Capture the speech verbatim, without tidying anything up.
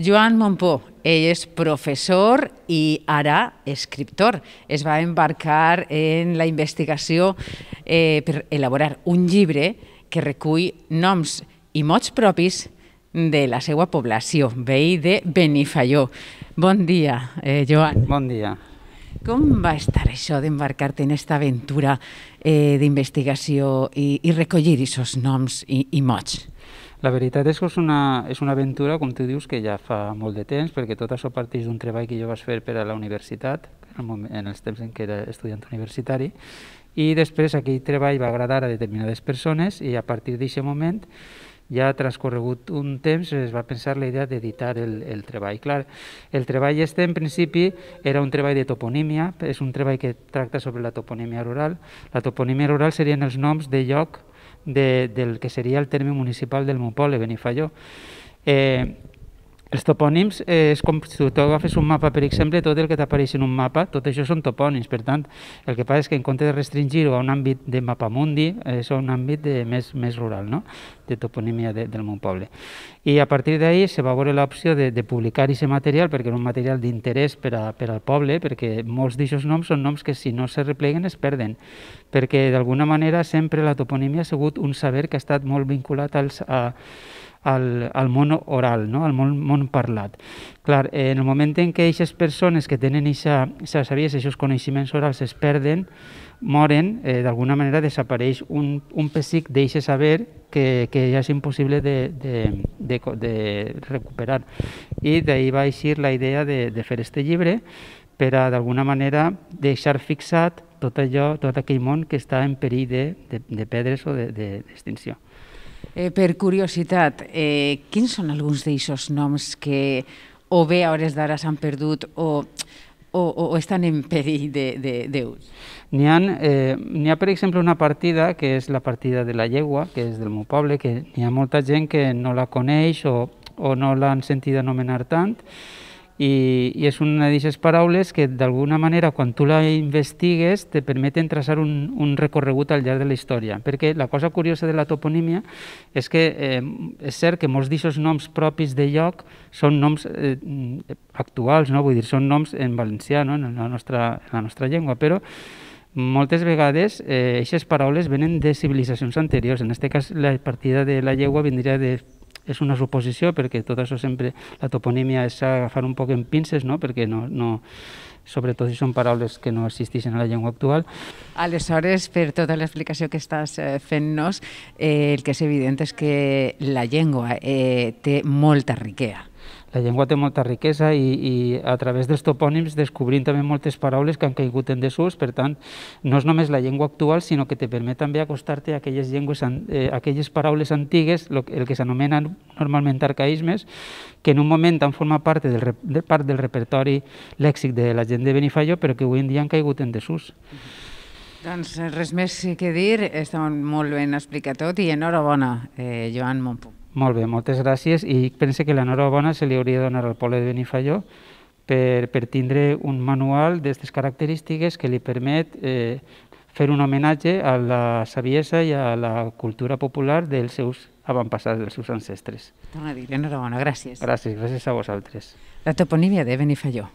Joan Mompó, ell és professor i ara escriptor. Es va embarcar en la investigació eh, per elaborar un llibre que recull noms i mots propis de la seva població, veí de Benifaió. Bon dia, eh, Joan. Bon dia. Com va estar això d'embarcar-te en aquesta aventura eh, d'investigació i, i recollir aquests noms i, i mots? La veritat és que és una, és una aventura, com tu dius, que ja fa molt de temps, perquè tot això parteix d'un treball que jo vaig fer per a la universitat, en, el moment, en els temps en què era estudiant universitari, i després aquell treball va agradar a determinades persones i a partir d'aquest moment, ja ha transcorregut un temps, es va pensar la idea d'editar el, el treball. Clar, el treball este, en principi, era un treball de toponímia, és un treball que tracta sobre la toponímia rural. La toponímia rural serien els noms de lloc de, del que seria el terme municipal del meu poble, Benifaió. Eh, els topònims eh, és com si tu agafes un mapa, per exemple, tot el que t'apareix en un mapa, tot això són topònims. Per tant, el que passa és que en compte de restringir-ho a un àmbit de mapamundi, és un àmbit de, més, més rural, no? De toponímia de, del meu poble. I a partir d'ahir se va veure l'opció de, de publicar aquest material, perquè era un material d'interès per, a, per al poble, perquè molts d'aquests noms són noms que si no se repleguen es perden, perquè d'alguna manera sempre la toponímia ha sigut un saber que ha estat molt vinculat als, a, al, al món oral, no? Al món, món parlat. Clar, en el moment en què aquestes persones que tenen aquesta sabiesa, aquests coneixements orals es perden, moren, eh, d'alguna manera desapareix un, un pessic d'aquest saber que, que ja és impossible de, de, de, de recuperar. I d'ahir va eixir la idea de, de fer este llibre per a, d'alguna manera, deixar fixat tot allò, tot aquell món que està en perill de, de, de perdre's o d'extinció. De, Eh, per curiositat, eh, quins són alguns d'aquests noms que o bé a hores d'ara s'han perdut o, o, o estan en perill d'ús? N'hi ha, eh, n'hi ha, per exemple, una partida que és la partida de la llegua, que és del meu poble, que n'hi ha molta gent que no la coneix o, o no l'han sentit anomenar tant, i, i és una d'aquestes paraules que d'alguna manera quan tu la investigues te permeten traçar un, un recorregut al llarg de la història, perquè la cosa curiosa de la toponímia és que eh, és cert que molts d'aquests noms propis de lloc són noms eh, actuals, no? Vull dir, són noms en valencià, no? en, la nostra, en la nostra llengua, però moltes vegades aquestes eh, paraules venen de civilitzacions anteriors. En aquest cas la partida de la llegua vindria de és una suposició, perquè tot això sempre, la toponímia és agafar un poc en pinces, no? Perquè no, no, sobretot si són paraules que no existeixen a la llengua actual. Aleshores, per tota l'explicació que estàs fent-nos, eh, el que és evident és que la llengua eh, té molta riquesa. La llengua té molta riquesa i, i a través dels topònims descobrim també moltes paraules que han caigut en desús. Per tant, no és només la llengua actual, sinó que te permet també acostar-te a aquelles, llengües, eh, aquelles paraules antigues, lo, el que s'anomenen normalment arcaïsmes, que en un moment han format part del, de part del repertori lèxic de la gent de Benifaió, però que avui en dia han caigut en desús. Doncs res més que dir, està molt ben explicat tot i enhorabona, eh, Joan Mompó. Molt bé, moltes gràcies, i pense que l'enhorabona se li hauria de donar al poble de Benifaió per, per tindre un manual d'aquestes característiques que li permet eh, fer un homenatge a la saviesa i a la cultura popular dels seus avantpassats, dels seus ancestres. Torna a dir, enhorabona, gràcies. Gràcies, gràcies a vosaltres. La toponímia de Benifaió.